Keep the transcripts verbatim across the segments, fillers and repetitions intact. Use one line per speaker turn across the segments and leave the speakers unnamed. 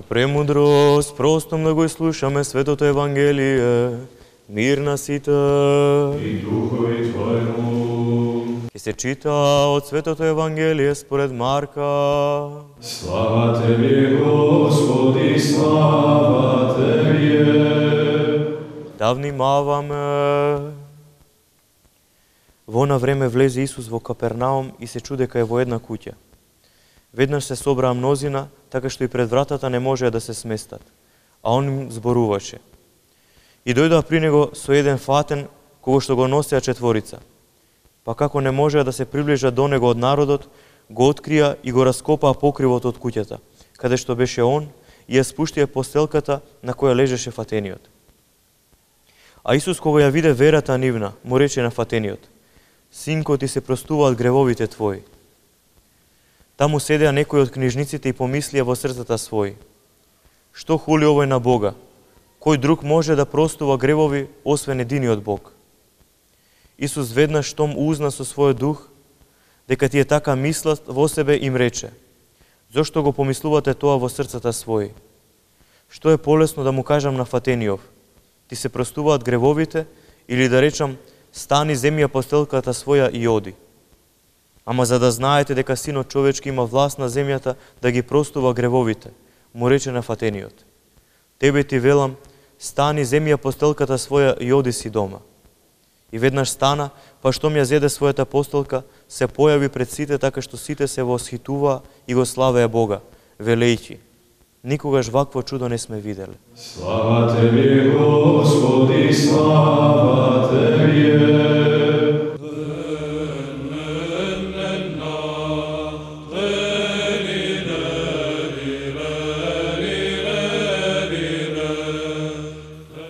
премудрост, простом да го слушаме светото Евангелие, мир на сите.
И духови Твојму.
Ке се чита од светото Евангелие според Марка.
Слава Тебе, Господи, слава Тебе.
Да внимаваме. Во она време влезе Исус во Капернаум и се чуде кај во една куќа. Веднаш се собраа мнозина, така што и пред вратата не можеа да се сместат, а он им зборуваше. И дојдоа при него со еден фатен, кого што го носеа четворица. Па како не можеа да се приближат до него од народот, го открија и го раскопаа покривот од куќата, каде што беше он, и ја спуштија постелката на која лежеше фатениот. А Исус, кога ја виде верата нивна, му рече на фатениот: Синко, ти се простуваат гревовите твои. Таму седеа некои од книжниците и помислија во срцата своји: Што хули овој на Бога? Кој друг може да простува гревови, освен единиот Бог? Исус веднаш штом узна со својот дух дека тие така мислат во себе, им рече: Зошто го помислувате тоа во срцата своји? Што е полесно да му кажам на фатениов: Ти се простуваат гревовите, или да речам: Стани, земи ја постелката своја и оди? Ама за да знаете дека Синот човечки има власт на земјата да ги простува гревовите, му рече на фатениот: Тебе ти велам, стани, земи ја постелката своја и оди си дома. И веднаш стана, па штом ја зеде својата постелка, се појави пред сите, така што сите се восхитуваа и го славеа Бога, велејќи: Никогаш вакво чудо не сме виделе.
Слава Тебе, Господи, слава Тебе.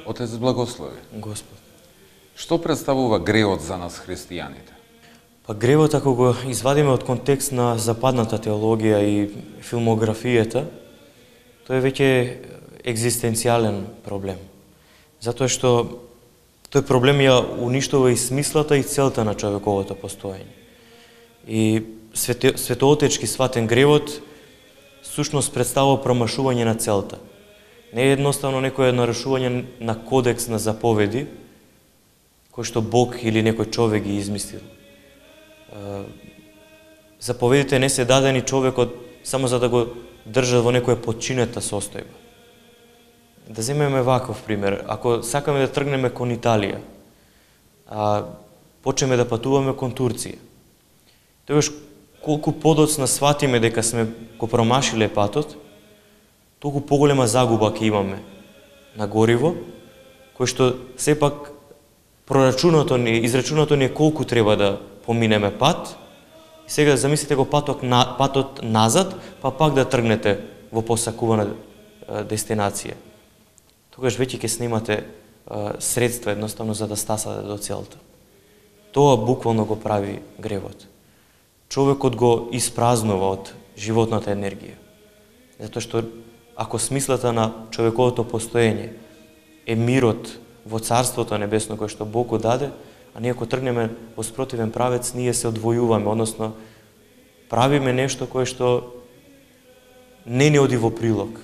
Отец благослови.
Господ.
Што представува гревот за нас христијаните?
Па гревот, ако го извадиме од контекст на западната теологија и филмографијата, тој е веќе екзистенцијален проблем. Затоа што тој проблем ја уништува и смислата и целта на човековото постоење. И свете, светоотечки сватен гревот сушност представува промашување на целта. Не е едноставно некој нарушување на кодекс на заповеди, кој што Бог или некој човек ги измислил. Заповедите не се дадени човекот само за да го држат во некоја подчинета состојба. Да земеме ваков пример. Ако сакаме да тргнеме кон Италија, а почнеме да патуваме кон Турција, тогаш колку подоцна сватиме дека сме го промашиле патот, толку поголема загуба ќе имаме на гориво, кој што сепак прорачунато ни, израчунато ни е колку треба да поминеме пат. И сега замислите го патот, на, патот назад, па пак да тргнете во посакувана дестинација. Тогаш веќе ќе снимате а, средства едноставно за да стасате до целта. Тоа буквално го прави гревот. Човекот го испразнува од животната енергија. Затоа што ако смислата на човековото постоење е мирот во Царството небесно кој што Бог го даде, а ние ако тргнеме во спротивен правец, ние се одвојуваме, односно правиме нешто кое што не ни оди во прилог,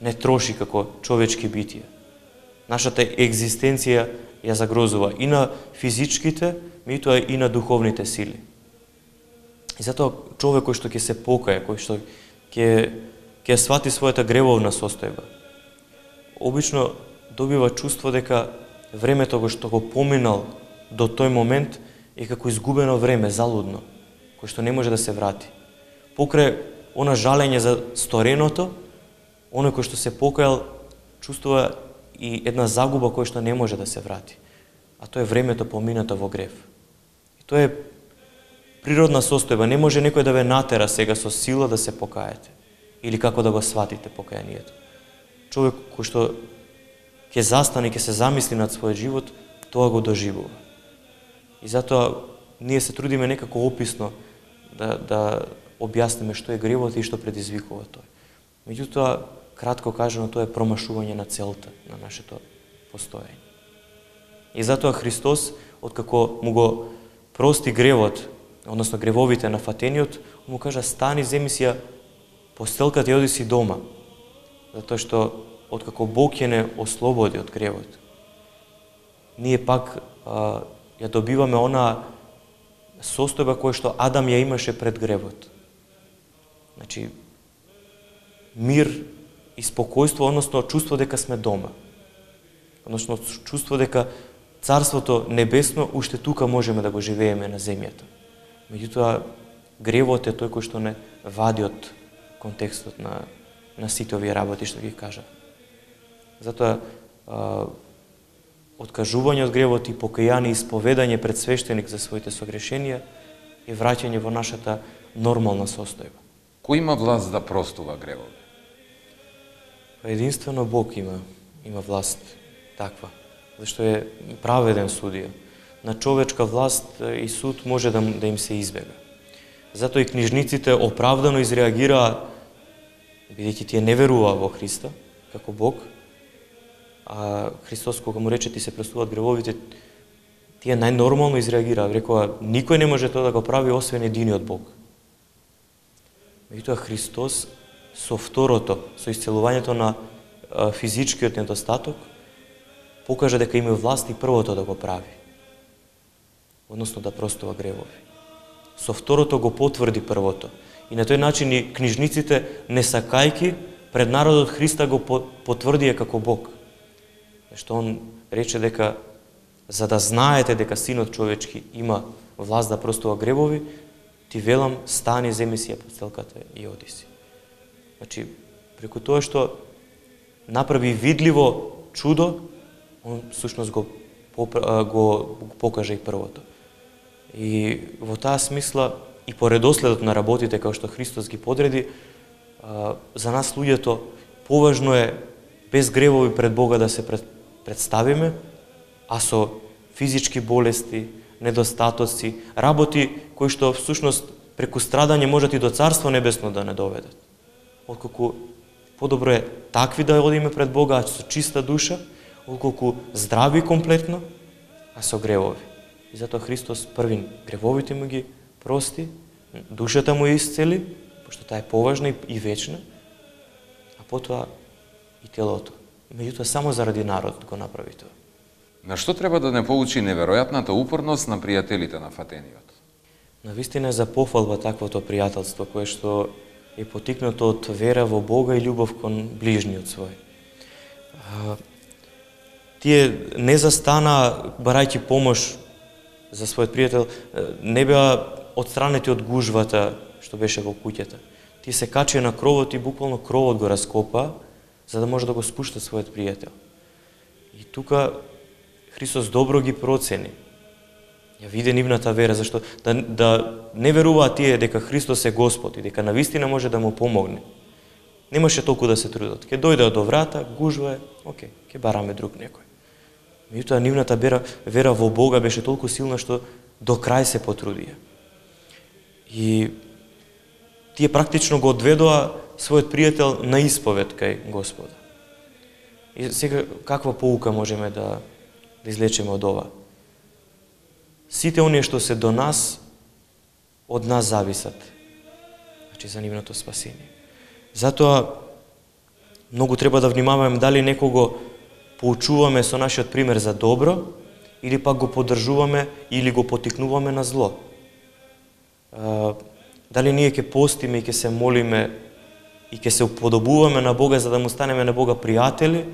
не троши како човечки битија. Нашата екзистенција ја загрозува и на физичките, меѓутоа и на духовните сили. И затоа човек кој што ќе се покае, кој што ќе ќе свати својата гревовна состојба, обично добива чувство дека времето го што го поминал до тој момент е како изгубено време, залудно, кој што не може да се врати. Покрај она жалење за стореното, оној кој што се покајал чувствува и една загуба која што не може да се врати. А тоа е времето поминато во грев. И тоа е природна состојба. Не може некој да ве натера сега со сила да се покаете или како да го сватите покајанието. Човек кој што ќе застане, ќе се замисли над својот живот, тоа го доживува. И затоа ние се трудиме некако описно да, да објасниме што е гревот и што предизвикува тој. Меѓутоа, кратко кажано, тоа е промашување на целта на нашето постоење. И затоа Христос, откако му го прости гревот, односно гревовите на фатениот, му кажа: стани, земи си ја постелката и оди си дома. затоа што откако Бог ќе не ослободи од гревот, ние пак а, ја добиваме она состојба која што Адам ја имаше пред гревот. Значи, мир и спокојство, односно чувство дека сме дома. Односно чувство дека Царството небесно уште тука можеме да го живееме на земјата. Меѓутоа, гревот е тој кој што не вади од контекстот на, на сите овие работи што ги кажа. Затоа, а, откажување од гревот и покаяние и исповедање пред свештеник за своите согрешенија е враќање во нашата нормална состојба.
Кој има власт да простува гревот?
Единствено Бог има, има власт таква, зашто е праведен судија. На човечка власт и суд може да, да им се избега. Затоа и книжниците оправдано изреагираа, бидејќи тие не веруваа во Христа, како Бог, а Христос кога му рече ти се простуваат гревовите, тие најнормално изреагираа, рекоа никој не може тоа да го прави освен единиот Бог. Меѓутоа Христос со второто, со исцелувањето на а, физичкиот недостаток, покажа дека има власт и првото да го прави. Односно да простува гревови. Со второто го потврди првото. И на тој начин и книжниците, не сакајки, пред народот Христа го потврдија како Бог. Што он рече дека за да знаете дека Синот човечки има власт да простува гревови, ти велам, стани, земи си ја постелката и оди си. Значи, преку тоа што направи видливо чудо, он всушност го, го покажа и првото. И во таа смисла, и по редоследот на работите, како што Христос ги подреди, за нас луѓето поважно е без гревови пред Бога да се представиме, а со физички болести, недостатоци, работи кои што всушност преку страдање можат и до Царство небесно да не доведат. Отколку подобро е такви да одиме пред Бога, а со чиста душа, отколку здрави комплетно, а со гревови. И затоа Христос првин гревовите му ги прости, душата му исцели, пошто таа е поважна и вечна, а потоа и телото. Меѓутоа само заради народот го направи тоа.
На што треба да не поучи неверојатната упорност на пријателите на Фатениот?
Навистина е за пофалба таквото пријателство, кое што е потикнато од вера во Бога и љубов кон ближниот свој. А, тие не застана барајќи помош за својот пријател, не беа отстранети од гужвата што беше во куќата. Тие се качија на кровот и буквално кровот го раскопа, за да може да го спушта својот пријател. И тука Христос добро ги процени. Ја виде нивната вера, зашто да, да не веруваат тие дека Христос е Господ и дека навистина може да му помогне. Немаше толку да се трудат. Ке дојде до врата, гужва е, окей, ке бараме друг некој. Меѓутоа нивната вера, вера во Бога беше толку силна што до крај се потрудија. И тие практично го одведоа својот пријател на исповед кај Господа. И сега каква поука можеме да, да излечеме од ова? Сите оние што се до нас, од нас зависат. Значи за нивното спасение. Затоа многу треба да внимаваме дали некого поучуваме со нашиот пример за добро, или пак го поддржуваме или го потикнуваме на зло. Дали ние ќе постиме и ќе се молиме и ќе се уподобуваме на Бога за да му станеме на Бога пријатели,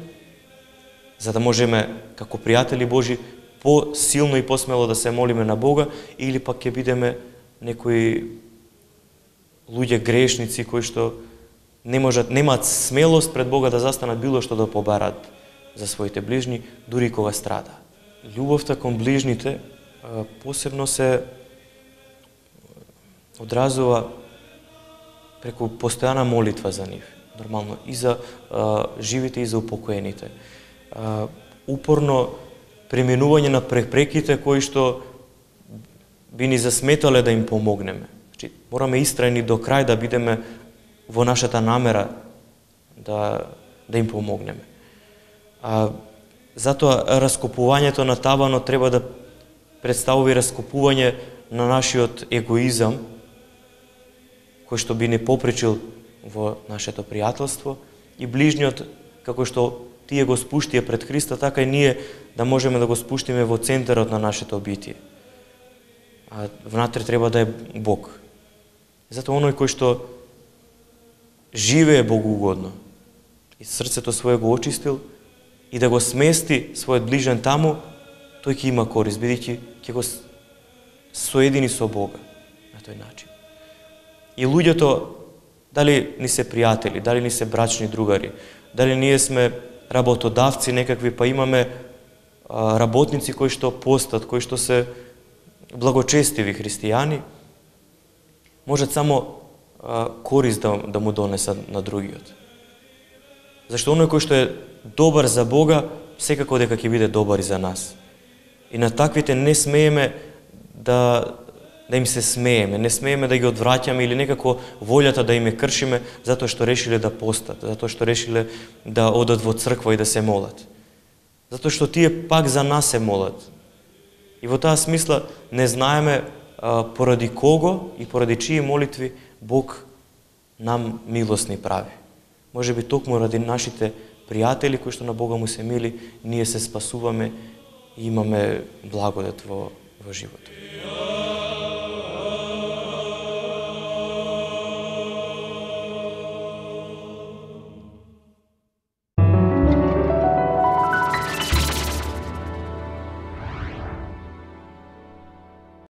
за да можеме како пријатели Божи по-силно и посмело да се молиме на Бога, или пак ќе бидеме некои луѓе грешници кои што не можат, немаат смелост пред Бога да застанат било што да побарат за своите ближни, дури кога страда. Љубовта кон ближните посебно се одразува преку постојана молитва за нив. Нормално и за а, живите и за упокоените. А, упорно преминување на препреките кои што би ни засметале да им помогнеме. Значи, мораме истрајни до крај да бидеме во нашата намера да, да им помогнеме. А, затоа раскопувањето на таванот треба да представува раскопување на нашиот егоизам, кој што би не попречил во нашето пријателство и ближниот, како што тие го спуштија пред Христа, така и ние да можеме да го спуштиме во центарот на нашето битие. А внатре треба да е Бог. Затоа оној кој што живее богоугодно и срцето свое го очистил и да го смести својот ближен таму, тој ќе има корист, бидејќи ќе го соедини со Бога на тој начин. И луѓето, дали ни се пријатели, дали ни се брачни другари, дали ние сме работодавци некакви, па имаме а, работници кои што постат, кои што се благочестиви христијани, можат само а, корист да, да му донесат на другиот. Зашто оној кој што е добар за Бога, секако дека ќе биде добар и за нас. И на таквите не смееме да, да им се смееме, не смееме да ги одвраќаме или некако волјата да им е кршиме затоа што решиле да постат, затоа што решиле да одат во црква и да се молат. Затоа што тие пак за нас се молат. И во таа смисла не знаеме а, поради кого и поради чии молитви Бог нам милост ни прави. Може би токму ради нашите пријатели кои што на Бога му се мили, ние се спасуваме и имаме благодат во, во животот.